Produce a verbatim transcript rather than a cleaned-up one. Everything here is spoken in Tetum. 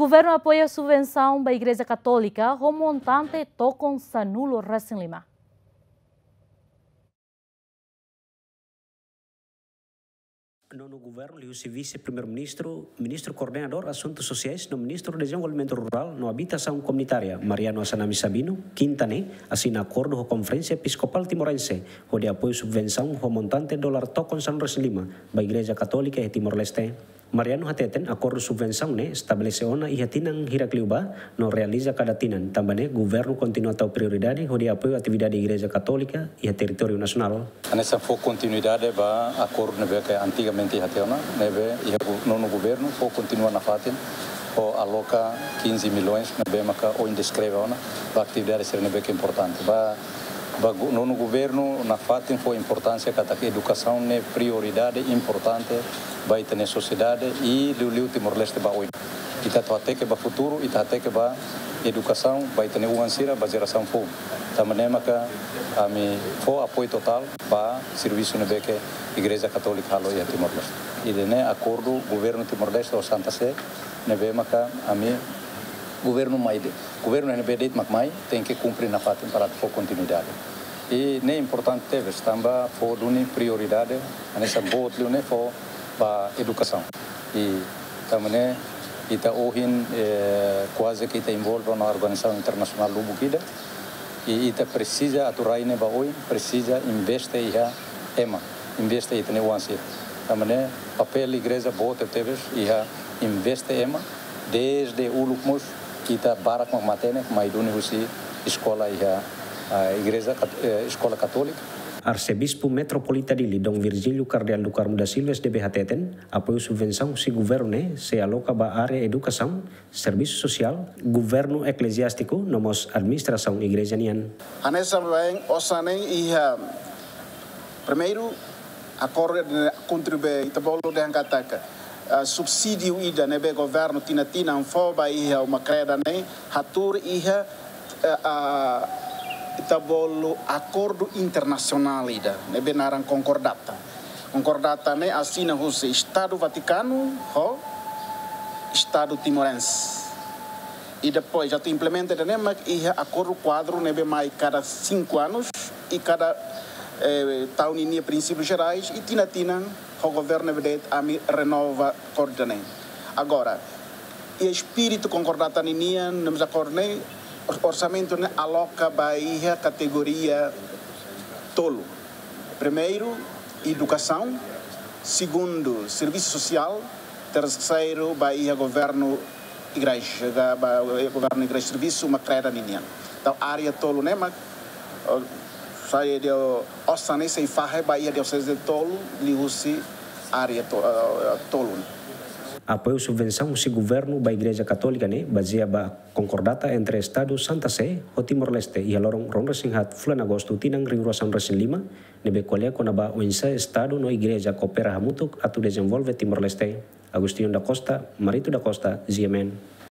Governu apoia subvensaun ba Igreja Katólika ho montante tokon sanulu resin lima. Nonu Governu liuhusi Vise-Primeiru-Ministru, Ministru Koordenadór Asuntu Sosiais no Ministru Dezenvolvimentu Rurál no Abitasaun Komunitária, Mariano Assanami Sabino, kinta ne'e asina akordu ho Konferénsia Episkopál Timorense hodi apoiu subvensaun ho montante dolar tokon sanulu resin lima ba Igreja Katólika iha Timor-Leste. Mariano hateten akordu subvensaun ne'e estabelese ona iha tinan hirak liubá no realiza kada tinan, tanba ne'e governu kontinua tau prioridade hodi apoiu atividade Igreja Katólika iha territóriu nasionál. Hanesan fó kontinuidade ba akordu ne'ebé ke antigamente iha tiha ona, ne'ebé iha gu-, nonu governu fó kontinua nafatin, fó aloka quinze milhões, ne'ebé maka ohin deskreve ona, ba atividade sira ne'ebé ke importante. Ba, ba gu-, nonu governu nafatin fó importánsia katak edukasaun ne'e prioridade importante ba ita-nia sosiedade i liuliu Timor-Leste ba oin. Ita atu hateke ba futuru, ita hateke ba edukasaun ba ita-nia oan sira, ba jerasaun foun. Tanba ne'e maka ami fó apoiu totál ba servisu ne'ebé ke Igreja Katólika halo iha Timor-Leste. Ida-ne'e akordu governu Timor-Leste ho Santa Sé, ne'ebé maka ami governu mai de'it, governu ne'ebé de'it mak mai, tenke kumpre nafatin para fó kontinuidade. I ne'e importante tebes, tanba fó duni prioridade, hanesan boot liu ne'e fó ba edukasaun. I tanba ne'e ita ohin, eh, kuaze ke ita envolve ona organizasaun internasionál lubuk ida. I ita presiza atu rai ne'e ba oin, presiza investe iha ema, investe ita-nia oan sira. Tanba ne'e papél igreja boot tebes iha investe ema, desde uluk mós ita barak mak matenek mai duni husi eskola iha, ah, Igreja Kat-, eh, Eskola Katólika. Arsebispu Metropolita Dili, Dom Virgílio Kardeál do Carmo da Silva, S D B, hateten, apoiu subvensaun husi governu ne'e sei aloka ba área edukasaun, servisu sosiál, governu ekleziástiku, no mós administrasaun igreja nian. Hanesan baibain osan ne'e iha, primeiru, akordu ne'e kontribui, ita bolu dehan katak, ah, subsídiu ida ne'ebé governu tinan-tinan fó ba iha uma kreda ne'e, hatuur iha, eh, ah, ita bolu akordu internasionál ida ne'ebé naran konkordata. Konkordata ne'e asina husi Estadu Vatikanu ho Estadu Timorense. I depois atu implementa ida-ne'e mak iha akordu kuadru ne'ebé mai kada sinku anus, i kada, eh, tau ninia prinsípius jerais, i tinan-tinan ho governu ne'ebé de'it ami renova akordu ne'e. Agora, iha espíritu konkordata ninian, no mós akordu ne'e, or-, orsamentu ne'e aloka ba iha kategoria tolu. Primeiru, edukasaun. Segundu, servisu sosiál. Terseiru, ba iha governu igreja, ba iha governu igreja, servisu uma kreda ninian. Entaun, área tolu ne'e mak, oh, sai de osan ne'e sei fahe ba iha dioseze tolu, liuhusi área to-, eh, tolu. Apoiu subvensaun husi governu ba Igreja Katólika ne'e bazeia ba konkordata entre Estadu Santa Sé ho Timor-Leste iha loron ruanulu resin haat fulan Agostu tinan rihun rua sanulu resin lima, ne'ebé ko'alia kona-ba oinsá Estadu no Igreja koopera hamutuk atu dezenvolve Timor-Leste. Agostinho da Costa, Marito da Costa, G M N.